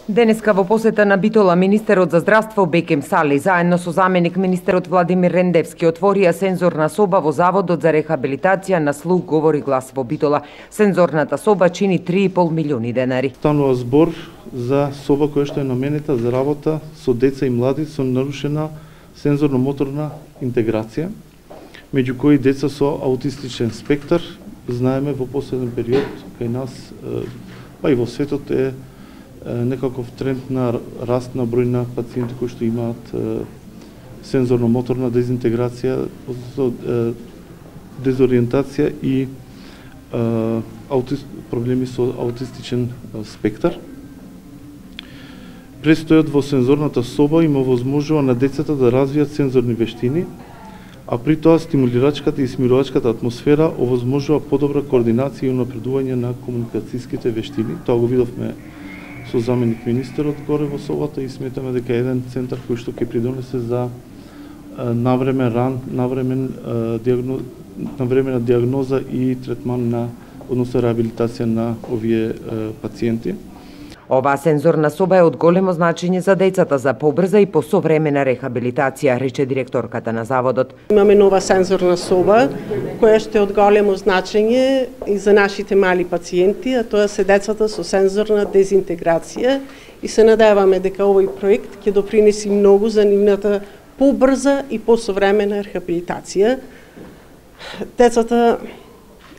Денеска во посета на Битола министерот за здравство Бекем Сали заедно со заменик министерот Владимир Рендевски отворија сензорна соба во Заводот за рехабилитација на слух, говори глас во Битола. Сензорната соба чини 3,5 милиони денари. Станува збор за соба која што е наменета за работа со деца и млади со нарушена сензорно-моторна интеграција, меѓу кои деца со аутистичен спектар. Знаеме во последен период кај нас, па и во светот е некаков тренд на раст на број на пациенти кои што имаат сензорно-моторна дезинтеграција, дезориентација и проблеми со аутистичен спектар. Престојот во сензорната соба им овозможува на децата да развијат сензорни вештини, а при тоа стимулирачката и смирувачката атмосфера овозможува подобра координација и унапредување на комуникацијските вештини. Тоа го видовме со заменик министерот горе во собата и сметаме дека еден центар кој што ќе придонесе за навремена диагноза и третман на, односно реабилитација на овие пациенти. Оваа сензорна соба е од големо значење за децата за побрза и посовремена рехабилитација, рече директорката на заводот. Имаме нова сензорна соба која ще е од големо значење и за нашите мали пациенти, а тоа се децата со сензорна дезинтеграција и се надеваме дека овој проект ќе допринеси многу за нивната побрза и посовремена рехабилитација. Децата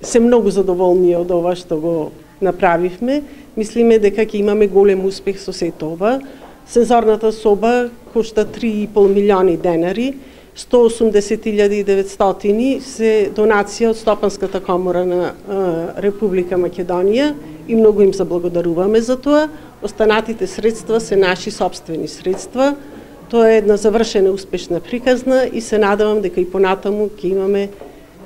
се многу задоволни од ова што го направивме. Мислиме дека ќе имаме голем успех со сето ова. Сензорната соба кошта 3,5 милиони денари, 180.900 се донација од Стопанската комора на Република Македонија и многу им заблагодаруваме за тоа. Останатите средства се наши сопствени средства. Тоа е една завршена успешна приказна и се надевам дека и понатаму ќе имаме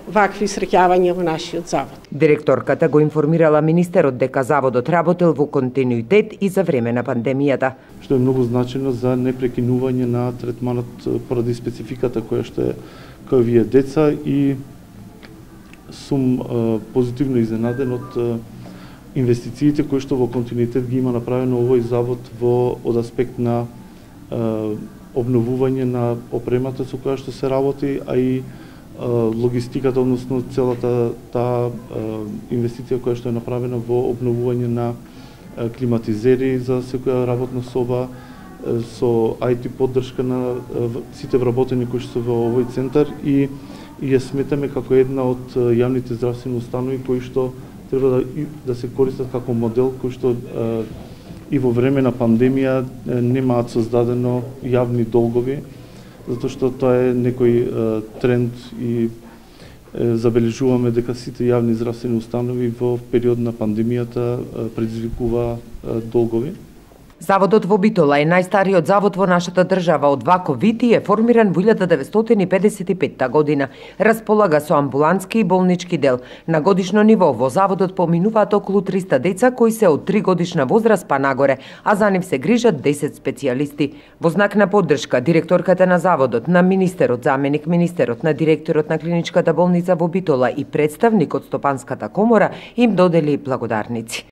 вакви среќавања во нашиот завод. Директорката го информирала министерот дека заводот работел во континуитет и за време на пандемијата. Што е многу значено за непрекинување на третманот поради спецификата која што е кај овие деца и сум позитивно изненаден од инвестициите кои што во континуитет ги има направено овој завод од аспект на обновување на опремата со која што се работи, а и логистиката, односно целата таа инвестиција која што е направена во обновување на климатизери за секоја работна соба, со IT поддршка на сите вработени кои што се во овој центар и ја сметаме како една од јавните здравствени установи кои што треба да се користат како модел кој што и во време на пандемија немаат создадено јавни долгови, затоа што тоа е некој тренд и забележуваме дека сите јавни здравствени установи во период на пандемијата предизвикува долгови. Заводот во Битола е најстариот завод во нашата држава од ваков вид и е формиран во 1955 година. Располага со амбулантски и болнички дел. На годишно ниво во заводот поминуваат околу 300 деца кои се од 3 годишна возраст па нагоре, а за нив се грижат 10 специјалисти. Во знак на поддршка, директорката на заводот, на министерот, заменик министерот, на директорот на клиничката болница во Битола и представник од Стопанската комора им додели благодарници.